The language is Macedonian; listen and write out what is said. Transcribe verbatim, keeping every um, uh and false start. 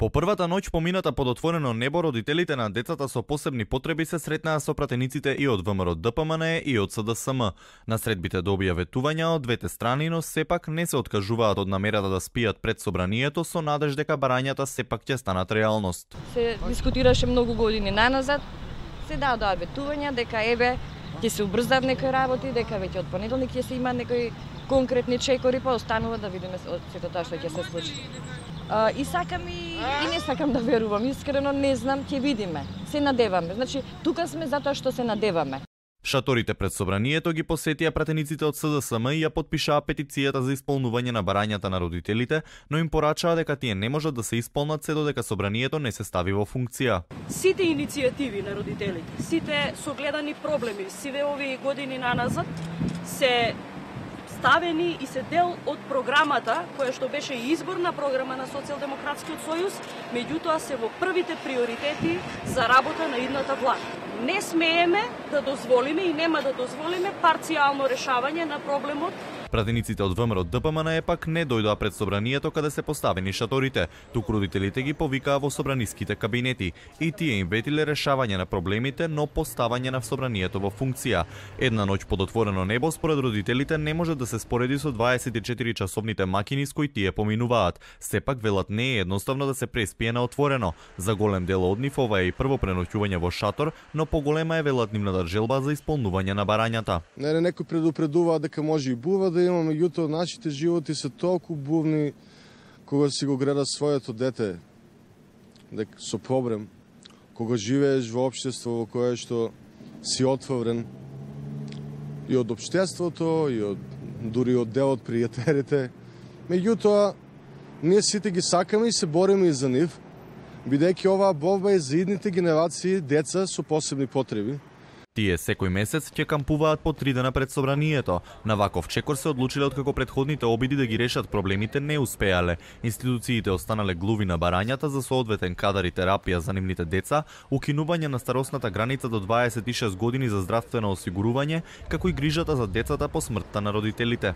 По првата ноќ помината под отворено небо, родителите на децата со посебни потреби се сретнаа со пратениците и од ВМРО-ДПМН и од СДСМ. На средбите добија ветувања од двете страни, но сепак не се откажуваат од намерата да спијат пред собранието со надеж дека барањата сепак ќе станат реалност. Се дискутираше многу години наназад, се дадоа ветувања дека еве ќе се убрзаат некои работи, дека веќе од понеделник ќе се има некои конкретни чекори, па останува да видиме сето тоа што ќе се случи. Uh, и сакам и, и не сакам да верувам, искрено не знам, ќе видиме. Се надеваме. Значи, тука сме затоа што се надеваме. Шаторите пред собранието ги посетија пратениците од СДСМ и ја потпишаа петицијата за исполнување на барањата на родителите, но им порачаа дека тие не можат да се исполнат се додека собранието не се стави во функција. Сите иницијативи на родителите, сите согледани проблеми, сите овие години наназад се ставени и се дел од програмата, која што беше и изборна програма на Социјалдемократскиот сојуз, меѓутоа се во првите приоритети за работа на идната влада. Не смееме да дозволиме и нема да дозволиме парцијално решавање на проблемот. Пратениците од ВМРО-ДПМН пак не дојдоа пред собранието каде се поставени шаторите, туку родителите ги повикаа во собраниските кабинети и тие им ветиле решавање на проблемите, но поставање на собранието во функција. Една ноќ под отворено небо според родителите не може да се спореди со дваесет и четири часовните макини с кои тие поминуваат. Сепак велат не е едноставно да се преспие на отворено. За голем дел од нив ова е и прво преноќување во шатор, но поголема е велат нивната желба за исполнување на барањата. Не, некој предупредува дека може и бува да има, меѓутоа нашите животи се толку бувни кога си го гледа своето дете дека со проблем, кога живееш во општество во кое што си отворен и од општеството и од дури од дел од пријателите. Меѓутоа ние сите ги сакаме и се бориме и за нив, бидејќи оваа борба е за идните генерации деца со посебни потреби. Тие секој месец ќе кампуваат по три дена пред собранието. На ваков чекор се одлучиле откако претходните обиди да ги решат проблемите не успеале. Институциите останале глуви на барањата за соодветен кадар и терапија за нивните деца, укинување на старосната граница до дваесет и шест години за здравствено осигурување, како и грижата за децата по смртта на родителите.